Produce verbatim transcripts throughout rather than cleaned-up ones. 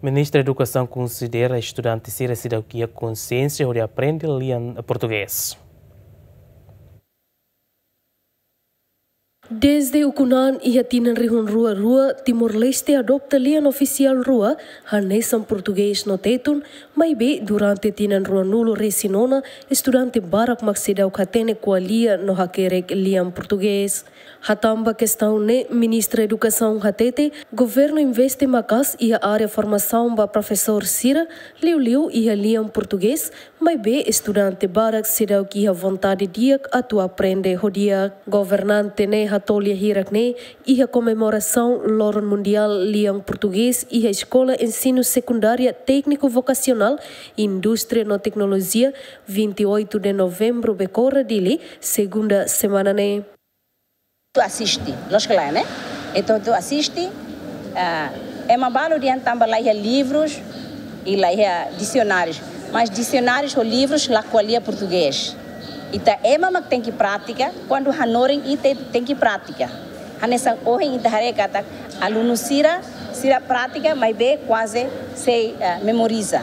Ministra Edukasaun konsidera estudante sira seidauk iha konsiénsia hodi aprende lian portugés. Dezde ukun-an iha tinan rihun rua rua, Timor-Leste adopta lian ofisiál rua, hanesan portugés no tetun, maibé durante tinan ruanulu-resin-nona, estudante barak mak seidauk hatene ko'alia no hakerek lian portugés. Hatán ba kestaun ne'e, Ministra Edukasaun hatete, governu investe maka'as iha área formasaun ba profesór sira, liuliu iha lian portugés, maibé estudante barak seidauk iha vontade di'ak atu aprende ho di'ak. Governante ne'e hato'o lia hirak ne'e iha komemorasaun Loron Mundiál Lian Portugés iha Eskola Ensinu Sekundária Tékniku Vokasionál, Indústria no Teknolojia, vinte e oito de Novembro, Becora, Dili, segunda semana ne'e. Tu asiste, lójika lae, ne'e? Entaun tu asiste, ah, ema balu dehan tanba la iha livrus i la iha disionárius. Mas disionárius ho livrus la ko'alia portugés. Ita ema mak tenke pratika, kuandu hanorin ita tenke pratika. Hanesan ohin ita haree katak alunu sira, sira pratika, maibé kuaze sei, eh, memoriza.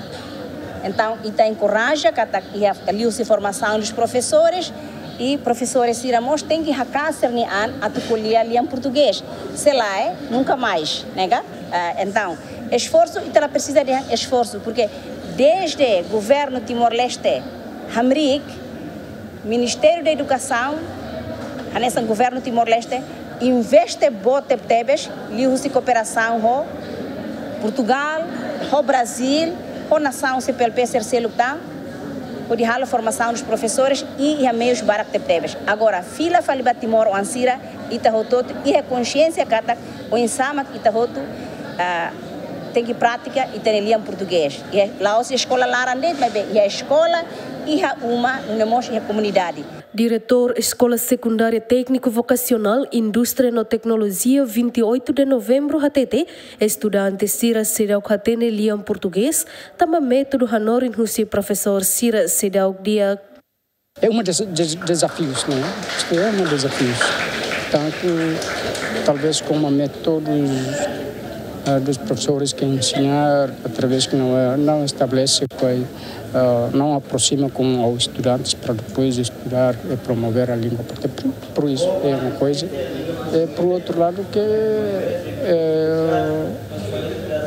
Entaun, ita enkoraja katak iha liuhusi formasaun dos profesores, i profesores sira mós tenke haka'as sira-nia an atu ko'alia lian portugés. Se lae, nunka mais, ne'e ka? Eh, entaun, esforsu, ita la presiza dehan esforsu, porke dezde governu Timor-Leste hamriik, Ministériu da Edukasaun, hanesan governu Timor-Leste, investe boot tebetebes, liuhusi kooperasaun ho Portugál, ho Brazíl, ho nasaun C P L P sira seluk tan, hodi halo formasaun dos profesores i iha meius barak tebetebes. Agora, fila fali ba timoroan sira, ita hotu-hotu iha konsiénsia katak oinsá mak ita hotu, ah, tenke pratika ita-nia lian portugés. Iha, la'ós eskola laran de'it, maibé iha eskola, iha uma, nune'e mós iha komunidade. Diretór Eskola Sekundária Tékniku Vokasionál, Indústria no Teknolojia, vinte e oito de Novembro, hatete, estudante sira seidauk hatene lian portugés, tanba métodu hanorin husi profesór sira seidauk di'ak. É uma des-, des-, desafios, né? Isto é um desafio. Tanto, talvez, como métodos, ah, dos professores que ensinar, através que não é, não estabelece, ah, não aproxima com os estudantes para depois estudar e promover a língua. Porque por, por isso é uma coisa. E por outro lado que, eh,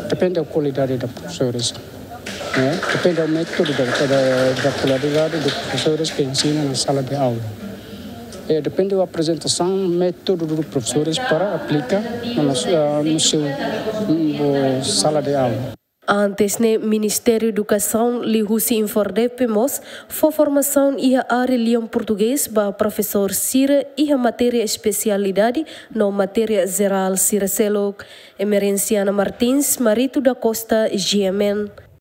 depende da qualidade da professores. Né? Depende do método da, da, da qualidade dos professores que ensina na sala de aula. E depende da apresentação, método dos professores para aplicar no, ah, no seu, mm, sala de aula. Antes ne'e, Ministériu Edukasaun liuhusi INFORDEPE mós fó formasaun iha área lian portugés ba profesór sira iha matéria espesialidade no matéria jerál sira seluk. Emerenciana Martins, Marito da Costa, G M N.